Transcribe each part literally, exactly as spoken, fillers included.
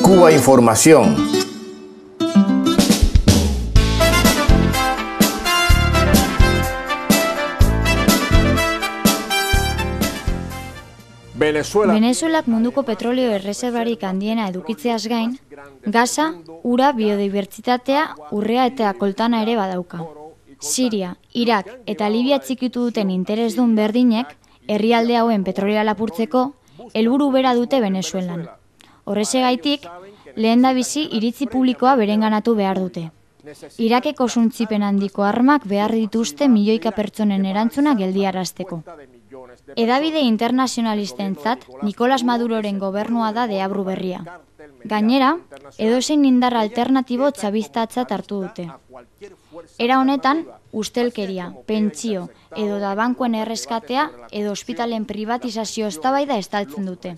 Cuba Información. Venezuelak munduko petrolio erreserbarik handiena edukitzeaz gain, gasa, ura, biodibertsitatea, urrea eta koltana ere badauka. Siria, Irak eta Libia txikitu duten interesdun berdinek, herrialde hauen petrolioa lapurtzeko, helburu bera dute Venezuelan. Horrexegaitik, lehendabizi iritzi publikoa berenganatu behar dute. Irakeko suntzipen handiko armak behar dituzte milioika pertsonen erantzuna geldiarazteko. Hedabide internazionalistentzat Nicolás Maduroren gobernua da deabru berria. Gainera, edozein indar alternatibo txabiztatzat hartu dute. Era honetan, ustelkeria, pentsio edo da bankuen erreskatea edo ospitalen privatizazio eztabaida estaltzen dute.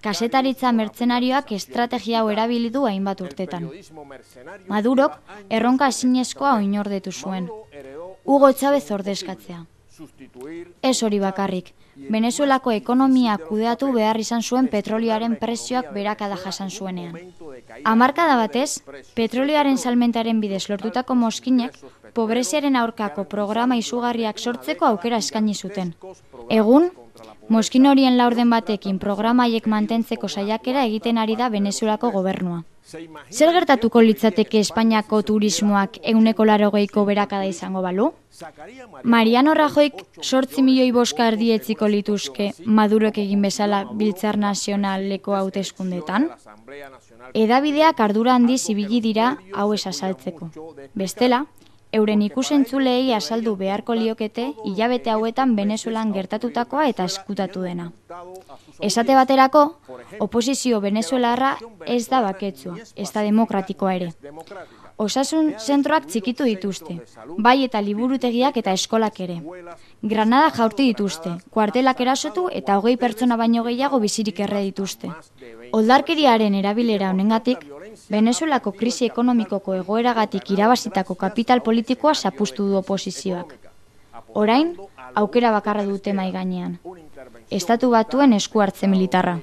Kazetaritza mertzenarioak estrategia hau erabili du hainbat urtetan. Madurok erronka ezinezkoa oinordetu zuen. Hugo Chávez ordezkatzea. Ez hori bakarrik, Venezuelako ekonomia kudeatu behar izan zuen petrolioaren prezioak berakada jasan zuenean. Hamarkada batez, petrolioaren salmentaren bidez lortutako mozkinek, pobreziaren aurkako programa izugarriak sortzeko aukera eskaini zuten. Egun, mozkin horien laurden batekin programaiek mantentzeko saiakera egiten ari da Venezuelako gobernua. Zer gertatuko litzateke Espainiako turismoak ehuneko laurogeiko berakada izango balu? Mariano Rajoyk zortzi milioi boska erdietziko lituzke Madurok egin bezala Biltzar Nazionaleko hauteskundetan? Hedabideak ardura handiz ibili dira hau ez azaltzeko. Bestela, euren ikusentzulei azaldu beharko liokete hilabete hauetan Venezuelan gertatutakoa eta eskutatu dena. Esate baterako, oposizio venezuelarra ez da baketsua, ez da demokratikoa ere. Osasun zentroak txikitu dituzte, bai eta liburutegiak eta eskolak ere. Granada jaurti dituzte, kuartelak erasotu eta hogei pertsona baino gehiago bizirik erre dituzte. Oldarkeriaren erabilera honengatik, Venezuelako krisi ekonomikoko egoeragatik irabazitako kapital politikoa zapuztu du oposizioak. Orain, aukera bakarra dute mahai gainean. Estatu Batuen esku hartze militarra.